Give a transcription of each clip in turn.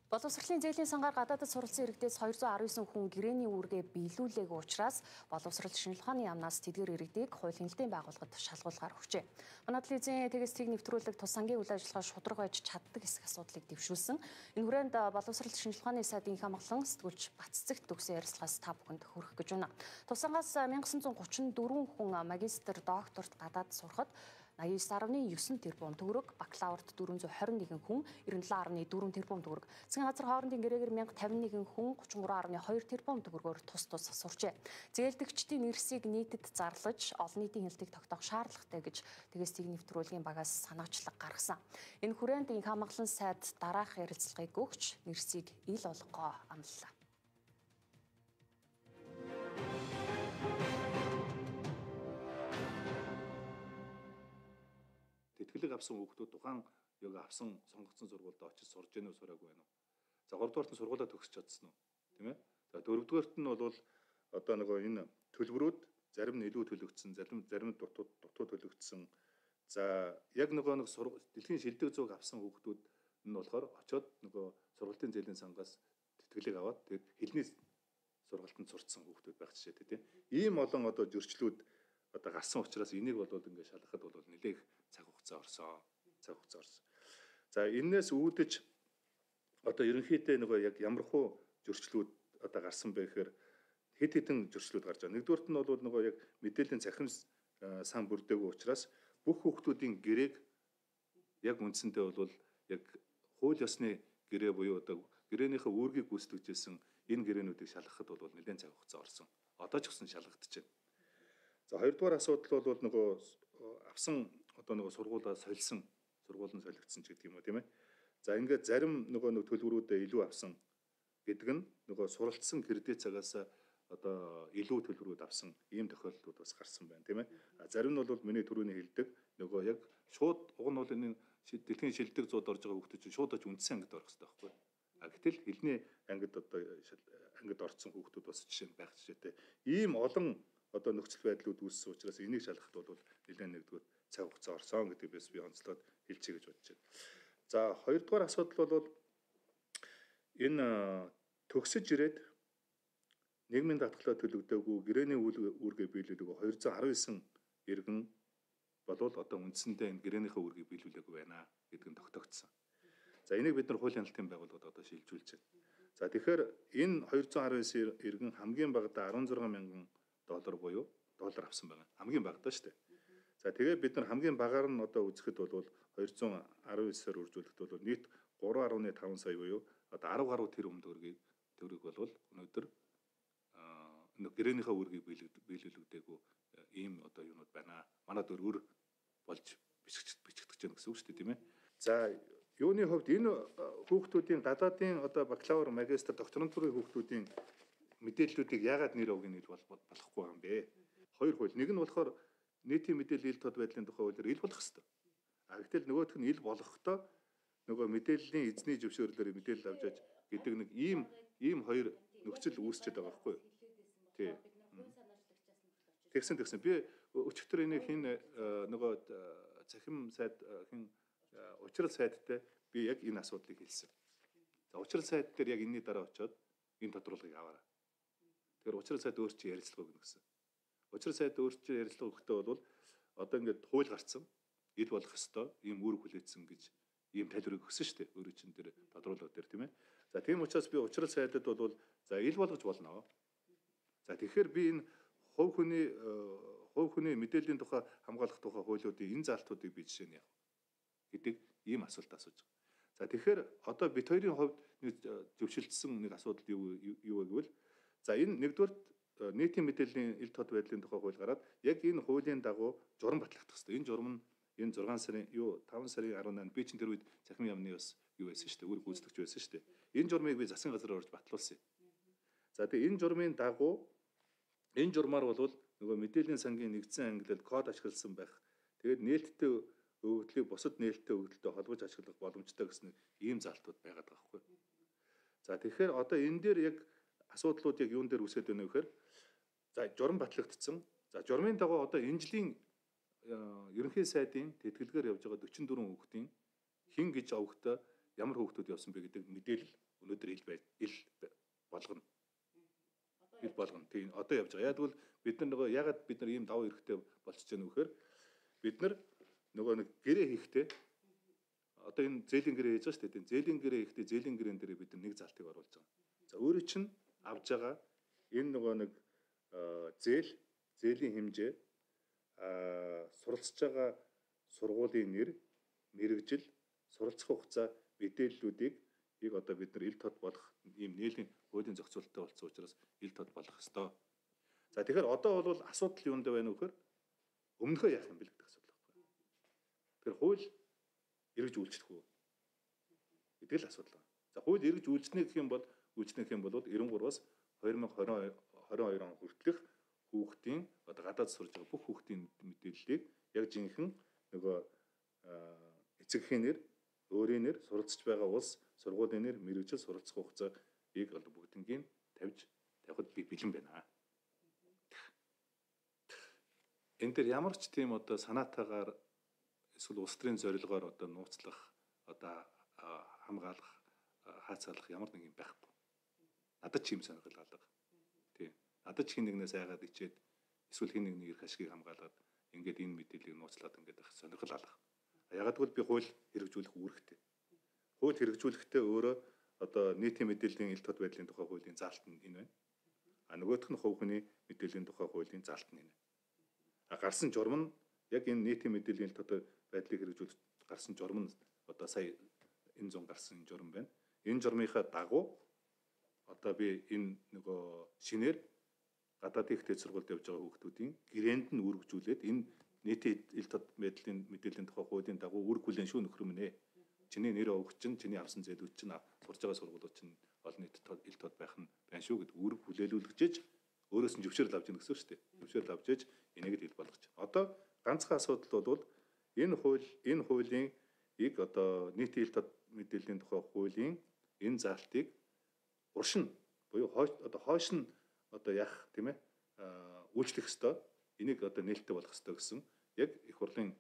Боловсролын зээлийн сангаар гадаадд суралцсан иргэдээс 219 хүн гэрээний үүргээ биелүүлээгүй учраас боловсрол шинжилгээ ухааны яамнаас тэдгээр иргэдийг хууль хяналтын байгууллагад шалгуулгаар өгчээ. Манай телевизийн тэгээсийг нэвтрүүлэг тус сангийн үйл ажиллагаа шударга байж чаддаг хэсэг асуудлыг дэвшүүлсэн. Энэ хүрээнд боловсрол шинжилгээ ухааны сайдын их амгалан сэтгүүлч Баццэгт төгсөн ярилцлагаас та бүхэнд хүргэх гэж байна. Тусангаас 1934 хүн магистр, докторт гадаад сурахад 89.9 тэрбум төгрөг, бакалаврт 421 хүн, 97.4 тэрбум төгрөг, засгийн газар хоорондын гэрээгээр 1051 хүн 33.2 тэрбум төгрөгөөр тус сурчээ. Зээлдэгчдийн нэрсийг нийтэд зарлаж, олон нийтийн хяналтыг тогтоох шаардлагатай гэж тэгээсийг нэвтрүүлгийн багаас санаачлаг гаргасан. Энэ хүрээнд инх хамгаалан сайд дараах ярилцлагыг өгч нэрсийг ил болгоо амлалаа. Тэтгэлэг авсан хүүхдүүд тухайн яг авсан сонгогдсон сургуульд очиж сурж гэнэ үү, сураагүй байна уу? За 3 дугаарт нь сургуулаа төгсөж чадсан уу? Тийм ээ. За 4 дугаарт нь бол одоо нөгөө энэ төлбөрүүд зарим нь илүү төлөгдсөн, зарим нь дутуу төлөгдсөн. За яг нөгөө нэг дэлхийн шилдэг зүг авсан хүүхдүүд нь болохоор очиод нөгөө сургалтын зээлийн сангаас тэтгэлэг аваад тэгээд хэлний сургалтанд сурцсан хүүхдүүд байх жишээтэй тийм. Ийм олон одоо зөрчлүүд одоо гарсан учраас энийг бол ингээд шалгахад бол нэлээх цаг хугацаа орсон. За энээс үүдэж одоо ерөнхийдөө нөгөө яг ямархуу зөрчлүүд одоо гарсан бэ гэхээр хэд хэдэн зөрчлүүд гарч байгаа. Нэгдүгээрт нь бол нөгөө яг мэдээллийн цахим сан бүрдээгүй учраас бүх хүүхдүүдийн гэрээг яг үндсэндээ бол яг хууль ёсны гэрээ буюу одоо гэрээнийхээ үүргийг гүйцэтгэжсэн энэ гэрээнүүдийг шалгахад бол нэлээд цаг хугацаа орсон. Одоо ч гэсэн шалгагдчихэв. За хоёрдугаар асуудал бол нөгөө авсан одоо нөгөө сургуулаа солисон, сургууль нь солигдсон ч гэдэг юм уу тийм ээ. За ингээд зарим нөгөө төлбөрүүдээ илүү авсан гэдэг нь нөгөө суралцсан кредит цагаас одоо илүү төлбөрүүд авсан ийм тохиолдлууд бас гарсан байна тийм ээ. Зарим нь бол миний түрүүний хэлдэг нөгөө яг шууд уг нь бол энэ дэлхийн шилдэг зууд орж байгаа хүүхдүүд чинь шууд очиж үндсэн ангид орох хэрэгтэй байхгүй. Гэтэл хэлний ангид одоо ангид орсон хүүхдүүд бас жишээ нь байх жишээтэй. Ийм олон одоо нөхцөл байдлууд үүссэн учраас энийг шалгахад бол нэлээд нэгдүгээр цаг хугацаа орсон гэдэг бис би онцлоод хэлчихье гэж бодож байна. За хоёрдугаар асуудал бол энэ төгсөж ирээд нийгмийн татгалзаа төлөгдөөгүй гэрээний үүргээ биелүүлээгүй 219 иргэн болвол одоо үндсэндээ энэ гэрээнийхээ үүргийг биелүүлээгүй байна гэдэг нь тогтогдсон. За энийг бид нар хуулийн хяналтын байгууллагад одоо шилжүүлж байна. За тэгэхээр энэ 219 иргэн хамгийн багадаа 16 мянган доллар буюу доллар авсан байгаа. Хамгийн багадаа шүү дээ. За тэгээ бид нар хамгийн багаар нь одоо үзэхэд бол 219-аар үржүүлэхэд бол нийт 3.5 сая буюу одоо 10 гаруй тэрбум төгрөг бол өнөөдөр гэрээнийхээ үүргийг биелүүлэгдээгүй ийм одоо юунууд байна. Манад өргөр болж бичигдэж байна гэсэн үг шүү дээ тийм ээ. За юуны хувьд энэ хүүхдүүдийн гадаадын одоо бакалавр, магистр, докторантурын хүүхдүүдийн мэдээллүүдийг яагаад нэр өгөх нь болохгүй юм бэ? Хоёр хууль. Нэг нь болохоор нийтийн мэдээллийн ил тод байдлын тухай хуулиар ил болох ёстой. Гэтэл нөгөөх нь ил болохдоо нөгөө мэдээллийн эзний зөвшөөрлөөр мэдээлэл авч яж гэдэг нэг ийм хоёр нөхцөл үүсчихэд байгаа байхгүй юу? Тий. Тэгсэн. Би өчигдөр энийг хин нөгөө цахим сайд хин учрал сайдтай би яг энэ асуудлыг хэлсэн. За учрал сайд дээр яг энэний дараа очиод энэ тодорхойлгыг аваарай. Тэгэхээр учрал сайд өөрчилж ярилцлага өгнө гэсэн. Учрал сайд өөрчилж ярилцлага өгөхдөө бол одоо ингээд хууль гарцсан ил болох ёстой ийм үүрэг хүлээсэн гэж ийм тайлбарыг өгсөн шүү дээ. Өөрөө чин дээр тодорхойлгоо дээр тийм ээ. За тийм учраас би учрал сайдад бол за ил болгож болно. За тэгэхээр би энэ хувь хүний мэдээллийн тухай хамгаалах тухай хуулиудын энэ заалтуудыг би жишээ нь яах гэдэг ийм асуулт асууж байгаа. За тэгэхээр одоо бид хоёрын хувьд зөвшөлдсөн нэг асуудал юу вэ гэвэл за энэ нэгдүгээр нийтийн мэдээллийн ил тод байдлын тухай хууль гараад яг энэ хуулийн дагуу журам батлагдах хэрэгтэй. Энэ журам нь энэ 5 сарын 18 би чинь тэр үед цахим яамны бас юу байсан шүү дээ. Үүрэг гүйцэтгэж байсан шүү дээ. Энэ журмыг би засгийн газар орж батлуулсан юм. За тэгээ энэ журмын дагуу энэ журмаар бол нөгөө мэдээллийн сангийн нэгдсэн ангилалд код ашигласан байх. Тэгээд нээлттэй өгөгдлийг бусад нээлттэй өгөгдөлтөд холбож ашиглах боломжтой гэсэн ийм залтууд байгаад байгаа хгүй. За тэгэхээр одоо энэ дээр яг асуудлууд яг юун дээр үсгээд байна вэ гэхээр за журам батлагдсан. За журмын дагуу одоо энэ жилийн ерөнхий сайдын тэтгэлгээр явж байгаа 44 хүүхдийн хин гэж овогтой ямар хүүхдүүд явсан бэ гэдэг мэдээлэл өнөөдөр ил болгоно. Ил болгоно. Тийм одоо явж байгаа. Яг тэгвэл бид нар нөгөө ягаад бид нар ийм давуу эрхтэй болчихж байгаа нөхөр бид нар нөгөө нэг гэрээ хийхдээ одоо энэ зээлийн гэрээ хийж байгаа шүү дээ. Зээлийн гэрээ хийхдээ зээлийн гэрээн дээр бид нар нэг залтыг оруулж байгаа. За өөрөө чинь авж байгаа энэ нөгөө нэг зээлийн хэмжээ суралцж байгаа сургуулийн нэр, мэрэгжил, суралцах хугацаа мэдээллүүдийг одоо бид нар ил тод болох ийм нээлийн хуулийн зохицуулалттай болсон учраас ил тод болох ёстой. За тэгэхээр одоо бол асуудал юунд байна вэ гэхээр өмнөхөө яах юм бэ гэдэг асуудал байна. Тэгэхээр хууль эргэж үйлчлэх үү гэдэг л асуудал байна. За хууль эргэж үйлчлэх гэх юм бол 93-аас 2022 он хүртэлх хүүхдийн одоо гадаад сурж байгаа бүх хүүхдийн мэдээллийг яг жинхэнэ нөгөө эцэгхийн нэр, өөрийн нэр, суралцж байгаа улс, сургуулийн нэр, мэрэгжил, суралцах хугацааг одоо бүгднийг тавихад би бэлэн байна. Энэ дээр ямар ч тийм одоо санаатаагаар эсвэл улс төрийн зорилгоор одоо нууцлах, одоо хамгаалах, хаацаалах ямар нэг юм байхгүй. Надад ч юм сонирхол алга. Тийм. Надад ч хин нэгнээс айгаад ичээд эсвэл хин нэгний эрх ашгийг хамгаалаад ингээд энэ мэдээллийг нууцлаад ингээд авах сонирхол алга. Ягаад гэвэл би хууль хэрэгжүүлэх үүрэгтэй. Хууль хэрэгжүүлэхдээ өөрөө одоо нийтийн мэдээллийн ил тод байдлын тухай хуулийн заалт нь энэ байна. Нөгөөх нь хувь хүний мэдээллийн тухай хуулийн заалт нь энэ. Гарсан журам нь яг энэ нийтийн мэдээллийн ил тод байдлыг хэрэгжүүлэх гарсан журам нь одоо сая энэ 100 гарсан журам байна. Энэ журмынхаа дагуу одоо би энэ нөгөө шинээр гадаадын их дэд сургуульд явж байгаа хүүхдүүдийн гэрээнд нь үргэлжлүүлээд энэ нийтийн ил тод байдлын мэдээллийн тухай хуулийн дагуу үүрэг хүлээн шүү нөхөр минь ээ. Чиний нэр өгч чинь, чиний авсан зээлүүд чинь сурж байгаа сургуулиуд чинь олон нийтэд ил тод байх нь байна шүү гэд үүрэг хүлээлүүлгэж өөрөөс нь зөвшөөрөл авч ийн гэсэн шүү дээ. Зөвшөөрөл авч ээж энийг ил болгож байна. Одоо ганцхан асуудал бол энэ хуулийн одоо нийтийн ил тод мэдээллийн тухай хуулийн энэ заалтыг уршин буюу хойш нь одоо яах тийм ээ үйлчлэх ёстой. Энийг одоо нээлттэй болгох ёстой гэсэн яг их хурлын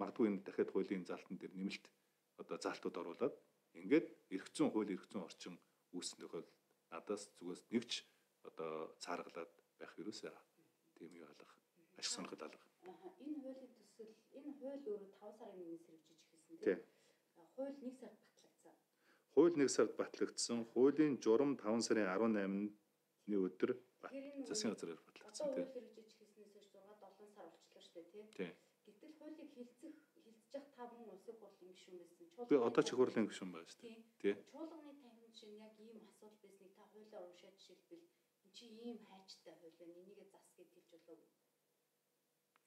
магадгүй энэ дахиад хуулийн заалтан дээр нэмэлт одоо заалтууд оруулаад ингээд эрх зүйн хууль эрх зүйн орчин үүссэн тохиол надаас зүгээс нэгч одоо цааргалаад байх юусаа тийм юу алга ашиг сонирхол алга. Энэ хуулийн төсөл энэ хууль өөрөө 5 сарын 1-ээс хэрэгжиж эхэлсэн тийм. Хууль 1 сард батлагдсан. Хууль 1 сард батлагдсан. Хуулийн журам 5 сарын 18-ны өдөр засгийн газраар батлагдсан тийм. Хууль хэрэгжиж эхэлснээс 6-7 сар болчихлоо шүү дээ тийм. Гэтэл хуулийг хилцэж явах 5 хүн улсын хурлын гишүүн байсан. Би одоо ч их хурлын гишүүн байна шүү дээ. Тийм. Чуулганы танхим чинь яг ийм асуудал байсныг та хуулиар уншаад жишээлбэл эн чи ийм хайчтай хууль байна. Энийгээ зас гэж хэлж болоогүй.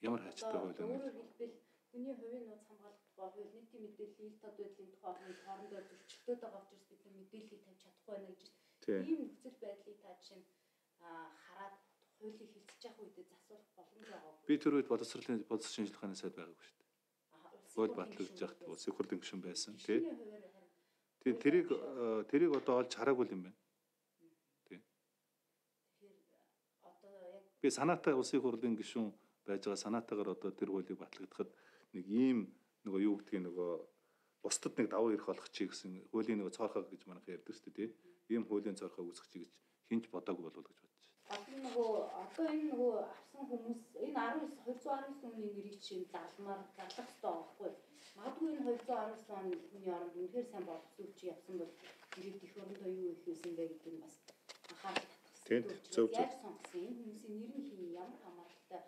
Ямар хайчтай хууль вэ? Өөрөөр хэлбэл хүний хувийн нууц хамгаалах тухай хууль, нийтийн мэдээллийн ил тод байдлын тухай хууль хоорондоо зөрчилдөд байгаа учраас бид мэдээллийг тавьж чадахгүй байна гэж ийм нөхцөл байдлыг та жишээ нь хараад хуулийг хилцэж явах үедээ засуулах боломж байгаа. Би тэр үед боловсролын бодис шинжилгээ ухааны сайд байгаагүй шүү дээ. Хууль батлагдж яхад улсын хурлын гишүүн байсан тий. Тэрийг одоо олж хараагүй юм байна. Тий. Би санаатай улсын хурлын гишүүн байж байгаа санаатаагаар одоо тэр хуулийг батлагдахад нэг ийм нөгөө юу гэдгийг нөгөө бусдад нэг давуу эрх олох чи гэсэн хуулийн нөгөө цоорхоо гэж манайх ярьдаг шүү дээ тий. Ийм хуулийн цоорхоо үүсгэх чи гэж хинч бодоогүй болов уу гэж бодож байна. Одоо энэ нөгөө авсан хүмүүс энэ 219 хүний нэрийг чинь зарлах хэрэгтэй байхгүй. Магадгүй энэ 219 оны оронд үнэхээр сайн боловсруулж явсан бол ирээд их орондоо юу их хийсэн бэ гэдэг нь бас анхаарал татсан. Яг сонгосон энэ хүмүүсийн нэр нь хин ямар хамааралтай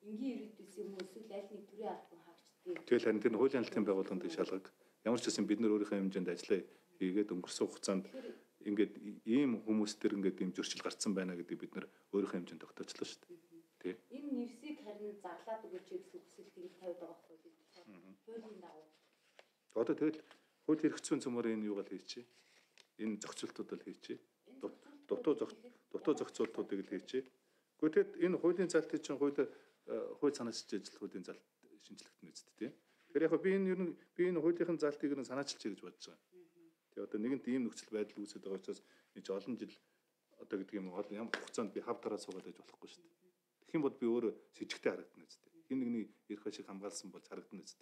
энгийн ирээдүйс юм уу эсвэл аль нэг төрийн албан хаагчдгийг. Тэгэл харин тэр хуулийн албан байгууллагын шалгаг ямар ч гэсэн бид нар өөрийнхөө хэмжээнд ажиллаа хийгээд өнгөрсөн хугацаанд ингээд ийм хүмүүс төр ингээд ийм зөрчил гарцсан байна гэдэг бид нар өөрийнхөө хэмжээнд тогтоочлоо шүү дээ. Тий. Энэ нэрсийг харин зарлаад өгөөч гэсэн хүсэлтийг тавьд байгаа байхгүй юу? Хуулийн дагуу. Одоо тэгэл хууль эрх зүйн цөмөр энэ юугаар хийчихэ? Энэ зохицуултуудыг хийчихэ. Дутуу зохицуултуудыг л хийчихэ. Гэхдээ тэгэд энэ хуулийн залтыг чинь хууль санаачилж ажил хуулийн залт шинжилгэгдэнэ үст тий. Тэгэхээр яг би энэ хуулийнхын залтыг нь санаачилж гэж бодож байгаа. Тэгээ одоо нэгэнт ийм нөхцөл байдал үүсэж байгаа учраас нэг олон жил одоо гэдэг юм уу ямар хугацаанд би хав тараа суугаад байж болохгүй шүү дээ. Тэгэх юм бол би өөрөө с сэжигтэй харагдана үст. Хин нэгний эрх ашиг хамгаалсан бол харагдана үст.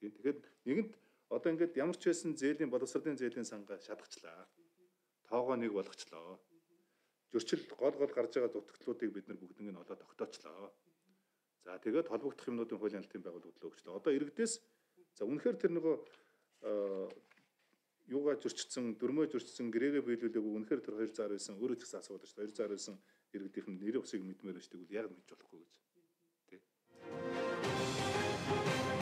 Тийм. Тэгэхээр нэгэнт Одоо ингээд ямар ч байсан зээлийн боловсролын зээлийн сангаа шатгачлаа. Тоогоо нэг болгочлоо. Зөрчил гол гарч байгаа дутагдлуудыг бид нар бүгднийг нь одоо тогтоочлоо. За тэгээд холбогдох юмнуудын хуулийн албан байгууллагад өгчлөө. Одоо иргэдээс за үнэхээр тэр нөгөө юугаа зөрчсөн, дөрмөө зөрчсөн, гэрээгээ биелүүлээгүй үнэхээр тэр 219 өөрөө ч гэсэн асуудаг шүү дээ. 219 иргэдийнх нь нэр усыг мэдмээр байна шүү дээ. Яг мэдж болохгүй гэж. Тэ.